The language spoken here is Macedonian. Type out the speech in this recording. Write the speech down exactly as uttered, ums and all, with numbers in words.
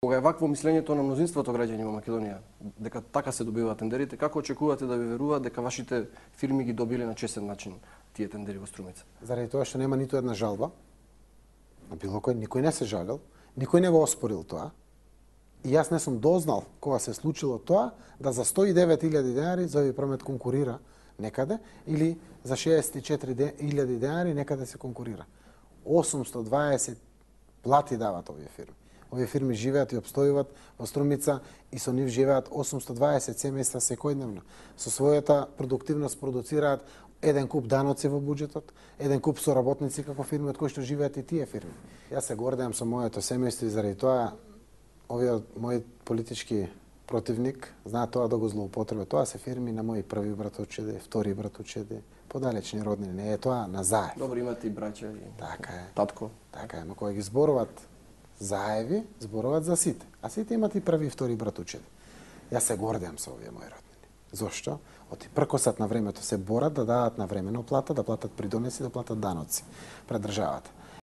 Кога е вакво мислењето на мнозинството граѓани во Македонија, дека така се добиваат тендерите, како очекувате да ви веруваат дека вашите фирми ги добиле на честен начин тие тендери во Струмица? Заради тоа што нема ниту една жалба, на било кој, никој не се жалил, никој не го оспорил тоа. И јас не сум дознал кога се случило тоа да за сто и девет илјади денари Зови Промет конкурира некаде или за шеесет и четири илјади денари некаде се конкурира. осумстотини и дваесет плати дават овие фирми. Овие фирми живеат и обстојуваат во Струмица и со нив живеат осумстотини и дваесет семејства секојдневно. Со својата продуктивност продуцираат еден куп даноци во буџетот, еден куп соработници како фирми од кои што живеат и тие фирми. Јас се гордеам со моето семејство и заради тоа овиот мој политички противник знаат тоа да го злоупотреба. Тоа се фирми на мои први братовчеди, втори братовчеди, подалечни роднини. Не е тоа на Заев. Добро, имате и браќа и така е. татко. Така е, но кога ги зборуваат Заеви, зборуваат за сите. А сите имат и први и втори братовчеди. Јас се гордеам со овие мои роднини. Зошто? Оти пркосат на времето се борат да дадат на времено плата, да платат придонеси, да платат даноци пред државата.